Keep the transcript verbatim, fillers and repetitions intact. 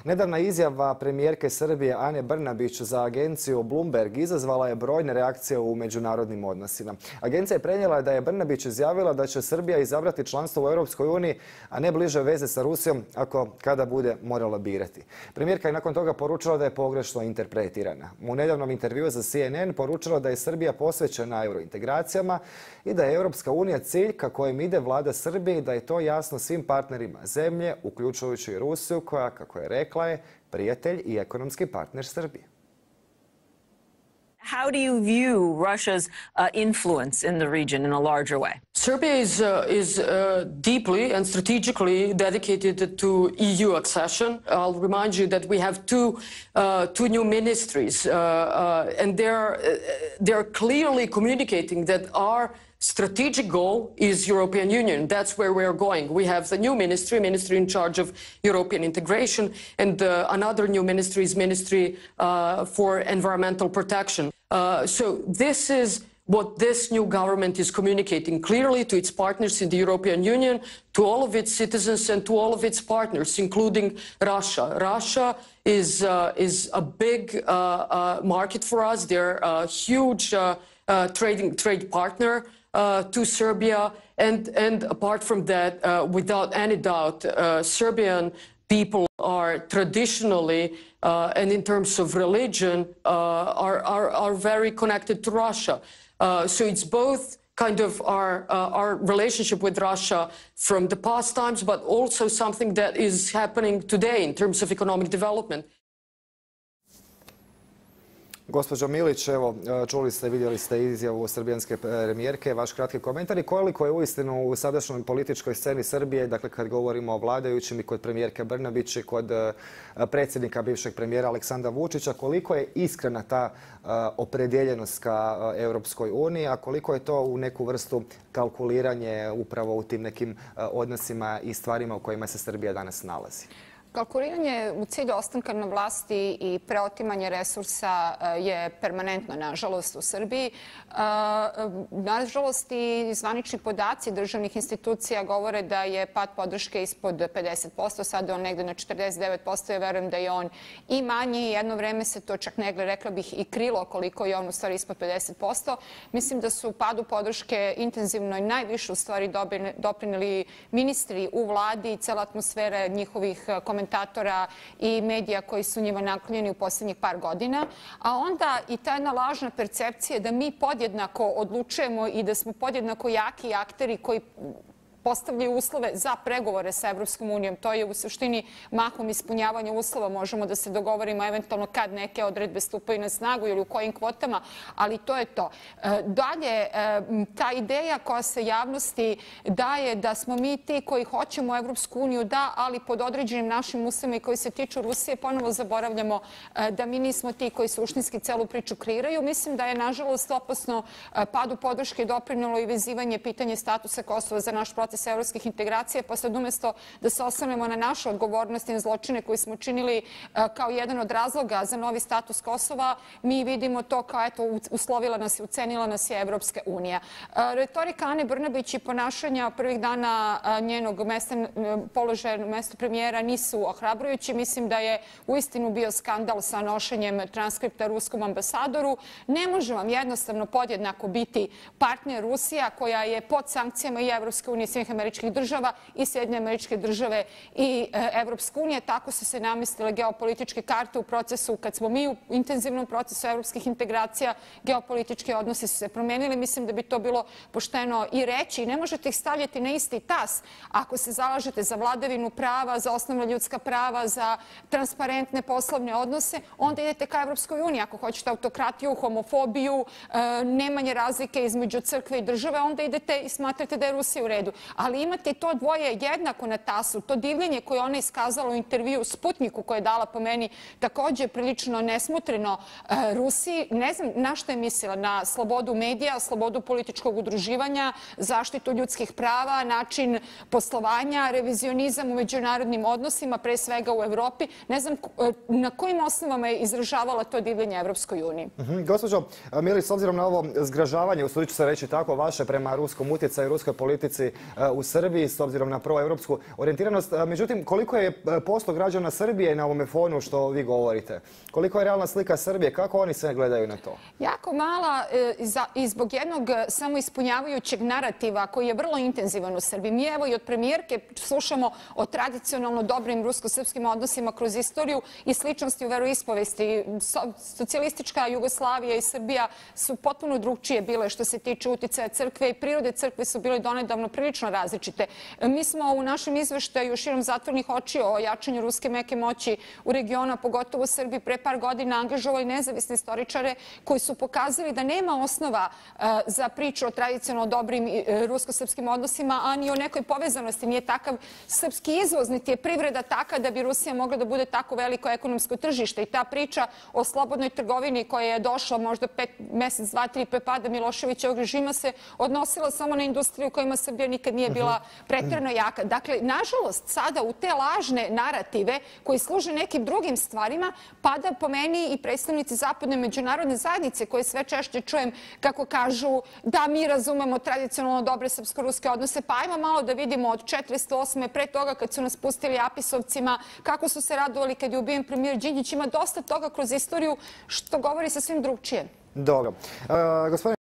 Nedavna izjava premijerke Srbije Ane Brnabić za agenciju Bloomberg izazvala je brojne reakcije u međunarodnim odnosima. Agencija je prenijela da je Brnabić izjavila da će Srbija izabrati članstvo u Europskoj uniji, a ne bliže veze sa Rusijom ako kada bude morala birati. Premijerka je nakon toga poručila da je pogrešno interpretirana. U nedavnom intervjuu za C N N poručila da je Srbija posvećena eurointegracijama i da je Europska unija cilj ka kojem ide vlada Srbije i da je to jasno svim partnerima zemlje, uključujući i Rusiju koja, kako je rekla, je prijatelj i ekonomski partner Srbije. How do you view Russia's uh, influence in the region in a larger way? Serbia is, uh, is uh, deeply and strategically dedicated to E U accession. I'll remind you that we have two, uh, two new ministries, uh, uh, and they're, uh, they're clearly communicating that our strategic goal is European Union. That's where we're going. We have the new ministry, ministry in charge of European integration, and uh, another new ministry is Ministry uh, for Environmental Protection. Uh, so this is what this new government is communicating clearly to its partners in the European Union, to all of its citizens and to all of its partners, including Russia. Russia is, uh, is a big uh, uh, market for us. They're a huge uh, uh, trading trade partner Uh, to Serbia, and, and apart from that, uh, without any doubt, uh, Serbian people are traditionally, uh, and in terms of religion, uh, are, are, are very connected to Russia. Uh, so it's both kind of our, uh, our relationship with Russia from the past times, but also something that is happening today in terms of economic development. Gospođo Milić, evo, čuli ste, vidjeli ste izjavu srbijanske premijerke, vaš kratki komentar i koliko je uistinu u sadašnjoj političkoj sceni Srbije, dakle kad govorimo o vladajućim i kod premijerke Brnabić i kod predsjednika bivšeg premijera Aleksandra Vučića, koliko je iskrena ta opredjeljenost ka Europskoj uniji, a koliko je to u neku vrstu kalkuliranje upravo u tim nekim odnosima i stvarima u kojima se Srbija danas nalazi? Kalkuliranje u cilju ostanka na vlasti i preotimanje resursa je permanentno, nažalost, u Srbiji. Nažalost, i zvanični podaci državnih institucija govore da je pad podrške ispod pedeset posto, sada je on negde na četrdeset devet posto. Ja verujem da je on i manji. Jedno vreme se to čak negde, rekla bih, i krilo koliko je on u stvari ispod pedeset posto. Mislim da su padu podrške intenzivno i najviše u stvari doprineli ministri u vladi i cela atmosfera njihovih komentatora komentatora i medija koji su njima naklonjeni u posljednjih par godina, a onda i ta jedna lažna percepcija da mi podjednako odlučujemo i da smo podjednako jaki akteri koji postavljaju uslove za pregovore sa Evropskom unijom. To je u suštini mahom ispunjavanja uslova. Možemo da se dogovorimo eventualno kad neke odredbe stupaju na snagu ili u kojim kvotama, ali to je to. Dalje, ta ideja koja se javnosti daje da smo mi ti koji hoćemo Evropsku uniju, da, ali pod određenim našim uslovima i koji se tiču Rusije, ponovo zaboravljamo da mi nismo ti koji suštinski celu priču kreiraju. Mislim da je, nažalost, opasno padu podrške doprinelo i vezivanje pitanja statusa Kosova za naš proces evropskih integracija, pa sad umjesto da se osvrnemo na našu odgovornost i na zločine koje smo činili kao jedan od razloga za novi status Kosova, mi vidimo to kao, eto, uslovila nas i ucenila nas je Evropska unija. Retorika Ane Brnabić i ponašanja prvih dana njenog položaja na mestu premijera nisu ohrabrujući. Mislim da je uistinu bio skandal sa nošenjem transkripta ruskom ambasadoru. Ne može vam jednostavno podjednako biti partner Rusija koja je pod sankcijama i Evropske unije, Sjedinjenih Američkih Država i Sjedinjene Američke Države i Evropske unije. Tako su se namestile geopolitičke karte u procesu, kad smo mi u intenzivnom procesu evropskih integracija, geopolitički odnosi su se promenili. Mislim da bi to bilo pošteno i reći. I ne možete ih stavljati na isti tas ako se zalažete za vladavinu prava, za osnovna ljudska prava, za transparentne poslovne odnose, onda idete ka Evropskoj uniji. Ako hoćete autokratiju, homofobiju, nemanje razlike između crkve i države, onda idete i smatrate da je Rusija u redu. Ali imate to dvoje jednako na tasu, to divljenje koje ona iskazala u intervju Sputniku koje je dala po meni također prilično nesmotreno Rusiji. Ne znam na što je mislila, na slobodu medija, slobodu političkog udruživanja, zaštitu ljudskih prava, način poslovanja, revizionizam u međunarodnim odnosima, pre svega u Evropi. Ne znam na kojim osnovama je izražavala to divljenje Evropskoj uniji. Gospođo Milić, s obzirom na ovo zgražavanje, usudit ću se reći tako, vaše prema ruskom utjecaju i ruskoj politici u Srbiji s obzirom na proevropsku orijentiranost. Međutim, koliko je posto građana Srbije na ovome fonu što vi govorite? Koliko je realna slika Srbije? Kako oni sve gledaju na to? Jako mala i zbog jednog samoispunjavajućeg narativa koji je vrlo intenzivan u Srbiji. Mi evo i od premijerke slušamo o tradicionalno dobrim rusko-srpskim odnosima kroz istoriju i sličnosti u veroispovesti. Socijalistička Jugoslavija i Srbija su potpuno drugčije bile što se tiče uticaja crkve i prirode crkve su bile donedavno prilično različite. Mi smo u našem izveštaju širom zatvornih očiju o jačanju ruske meke moći u regionu, pogotovo u Srbiji, pre par godina angažovali nezavisne istoričare koji su pokazali da nema osnova za priču o tradicionalno dobrim rusko-srpskim odnosima, a ni o nekoj povezanosti. Nije takav srpski izvoz, niti je privreda taka da bi Rusija mogla da bude tako veliko ekonomsko tržište. I ta priča o slobodnoj trgovini koja je došla možda pet mesec, dva, tri pre pada Miloševićevog režima se odnosila samo na industriju kojima Srbija nikad nije bila pretjerano jaka. Dakle, nažalost, sada u te lažne narative koji služe nekim drugim stvarima pada po meni i predstavnici zapadne međunarodne zajednice koje sve češće čujem kako kažu da mi razumemo tradicionalno dobre srpsko-ruske odnose. Pa ajmo malo da vidimo od četrdeset osme pre toga kad su nas pustili Apisovcima, kako su se radovali kad je ubijen premijer Đinđić. Ima dosta toga kroz istoriju što govori sa svim drugčije. Dobro. Gospodine